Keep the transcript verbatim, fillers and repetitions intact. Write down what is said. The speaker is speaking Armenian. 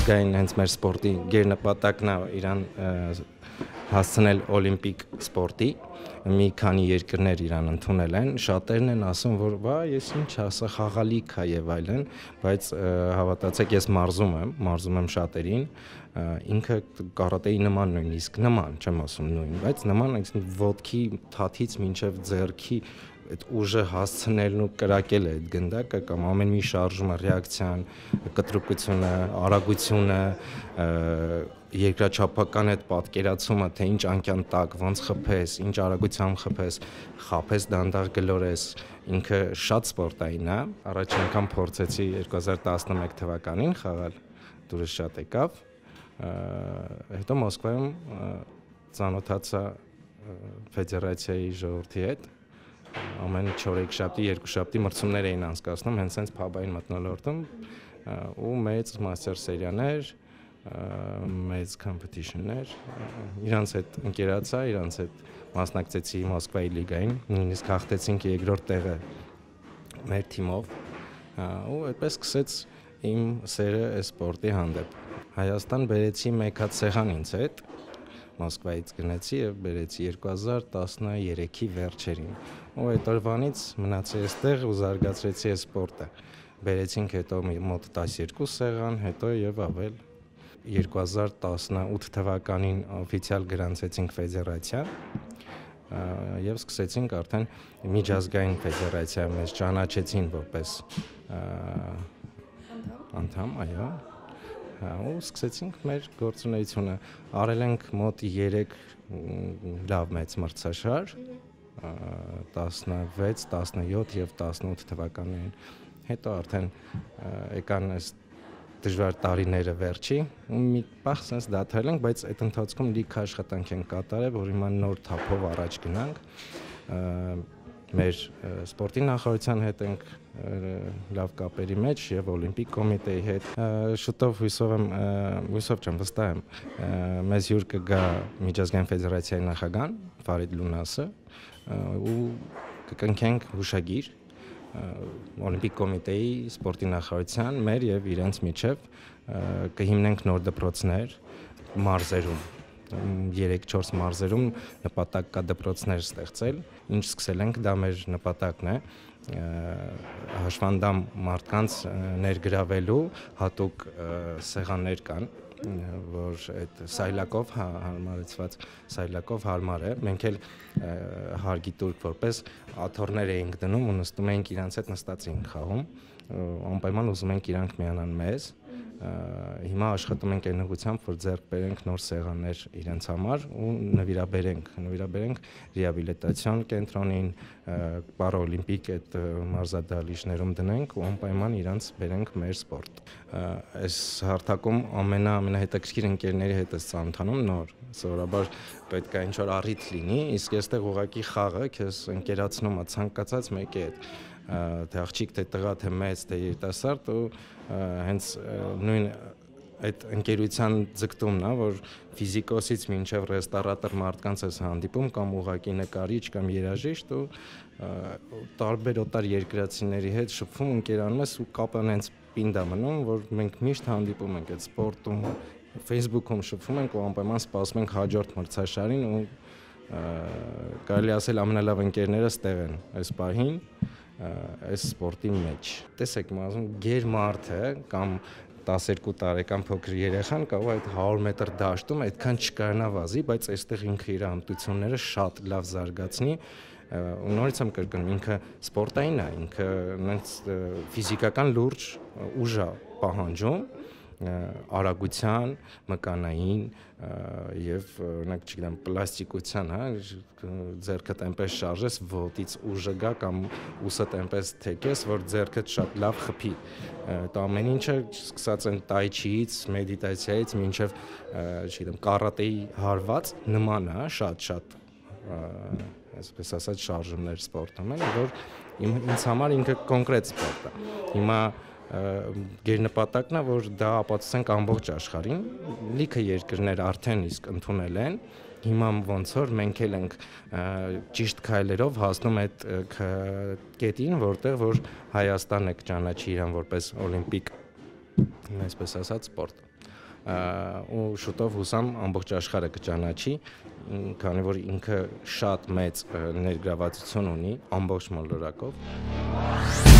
միջազգային հենց մեր սպորտի գերնպատակն է իրան հասցնել օլիմպիկ սպորտի, մի քանի երկրներ իրան ընդունել են, շատերն են ասում, որ բա ես ինչ ասա խաղալիք է եւ այլն, բայց հավատացեք ես մարզում եմ, մարզում եմ շատերին, ինքը կարատեի նման նույնիսկ նման, չեմ ասում նույն, բայց նման ոտքի թաթից մինչև ձեռքի այդ ուժը հասցնելն ու կրակել է այդ գնդակը կամ ամեն մի շարժումը, ռեակցիան, կտրուկությունը, արագությունը, երկրաչափական այդ պատկերացումը, թե ինչ անկյան տակ, ոնց խփես, ինչ արագությամբ խփես, խափես դանդաղ գլորես, ինքը շատ սպորտային է, առաջին անգամ փորձեցի երկու հազար տասնմեկ թվականին խաղալ, դուրս շատ եկավ, հետո Մոսկվայում ծանոթացա ֆեդերացիայի ժողովրդի հետ, ամեն չորեքշաբթի, երկուշաբթի մրցումներ էին անցկացնում, հենց հենց փաբային մթնոլորտում ու մեծ մաստեր սերիաներ, մեծ competition-ներ, իրանց հետ ընկերացա, իրանց հետ մասնակցեցի Մոսկվայի լիգային, նույնիսկ հաղթեցինք երկրորդ տեղը մեր թիմով ու այդպես սկսեց իմ սերը սպորտի հանդեպ։ Հայաստան բերեցի մեկ հատ սեղան ինձ հետ, Մոսկվայից գնացի եւ բերեցի երկու հազար տասներեքի վերջերին։ Ու այդ օրվանից մնացի այստեղ ու զարգացրեցի այս սպորտը։ Բերեցինք հետո մոտ տասներկու սեղան, հետո եւ ավել երկու հազար տասնութ թվականին օֆիցիալ գրանցեցինք ֆեդերացիա եւ սկսեցինք արդեն միջազգային ֆեդերացիա մեզ ճանաչեցին որպես անդամ, այո։ Ու սկսեցինք մեր գործունեությունը, արել ենք մոտ երեք լավ մեծ մրցաշար, տասնվեց, տասնյոթ եւ տասնութ թվականներին, հետո արդեն եկան այս դժվար տարիները վերջի, ու մի պահ sense դադարել ենք, բայց այդ ընթացքում լիքը աշխատանք ենք կատարել, որ հիմա նոր թափով առաջ գնանք, մեր սպորտի նախարարության հետ ենք լավ կապերի մեջ եւ օլիմպիկ կոմիտեի հետ շուտով հույսով եմ հույսով չեմ վստահ եմ մեզ հյուր կգա միջազգային ֆեդերացիայի նախագահան Ֆարիդ Լունասը ու կկնքենք հուշագիր օլիմպիկ կոմիտեի սպորտի նախարարության մեր եւ իրենց միջև կհիմնենք նոր դպրոցներ մարզերում երեք-չորս մարզերում նպատակ կա դպրոցներ ստեղծել, ինչ սկսել ենք, դա մեր նպատակն է, հաշվանդամ մարդկանց ներգրավելու հատուկ սեղաններ կան, որ այդ սայլակով հարմարեցված սայլակով հարմար է, մենք էլ հարգի տուրք որպես աթոռներ էինք դնում ու նստում էինք իրանց հետ նստած էինք խաղում, անպայման ուզում ենք իրանք միանան մեզ հիմա աշխատում ենք այն ուղղությամբ, որ ձեռք բերենք նոր սեղաններ իրենց համար ու նվիրաբերենք, նվիրաբերենք ռեաբիլիտացիոն կենտրոնին, պարաօլիմպիկ այդ մարզադահլիճներում դնենք ու անպայման իրենց բերենք մեր սպորտ։ Այս հարթակում ամենա ամենահետաքրքիր ընկերների հետ ես ծանոթանում նոր, սովորաբար պետք է ինչ-որ առիթ լինի, իսկ այստեղ ուղղակի խաղը քեզ ընկերացնում է ցանկացած մեկի հետ թե աղջիկ, թե տղա, թե մեծ, թե երիտասարդ ու հենց նույն այդ ընկերության ձգտումն է, որ ֆիզիկոսից մինչև ռեստորատոր մարդկանց ես հանդիպում կամ ուղղակի նկարիչ կամ երաժիշտ ու տարբեր օտար երկրացիների հետ շփվում ընկերանում ես ու կապը հենց պինդ է մնում, որ մենք միշտ հանդիպում ենք այդ սպորտում, Facebook-ում շփվում ենք ու անպայման սպասում ենք հաջորդ մրցաշարին ու կարելի ասել ամենալավ ընկերները ստեղ են այս պահին այս սպորտի մեջ։ Տեսեք, ասում գեր մարդը կամ տասներկու տարեկան փոքր երեխան կարող է այդ հարյուր մետր դաշտում այդքան չկարանա վազի, բայց այստեղ ինքը իր հմտությունները շատ լավ զարգացնի ու նորից եմ կրկնում, ինքը սպորտային է, ինքը նենց ֆիզիկական լուրջ ուժ է պահանջում արագության, մկանային եւ օրինակ չգիտեմ պլաստիկության, հա, ձեռքդ այնպես շարժես, ոտից ուժը գա կամ ուսդ այնպես թեքես, որ ձեռքդ շատ լավ խփի։ Այդ ամեն ինչը սկսած են տայչիից, մեդիտացիայից մինչև, չգիտեմ, կարատեի հարված նման է, շատ-շատ այսպես ասած շարժումներ սպորտում են, որ ինձ համար ինքը կոնկրետ սպորտ է։ Հիմա գերնպատակն է, որ դա ապացուցենք ամբողջ աշխարհին, լիքը երկրներ արդեն իսկ ընդունել են, հիմա ոնց որ մենք էլ ենք ճիշտ քայլերով հասնում այդ կետին, որտեղ որ Հայաստանն է կճանաչի իրան որպես օլիմպիկ այսպես ասած, սպորտ։ Ու շուտով հուսամ ամբողջ աշխարհը կճանաչի, քանի որ ինքը շատ մեծ ներգրավվածություն ունի ամբողջ մոլորակով։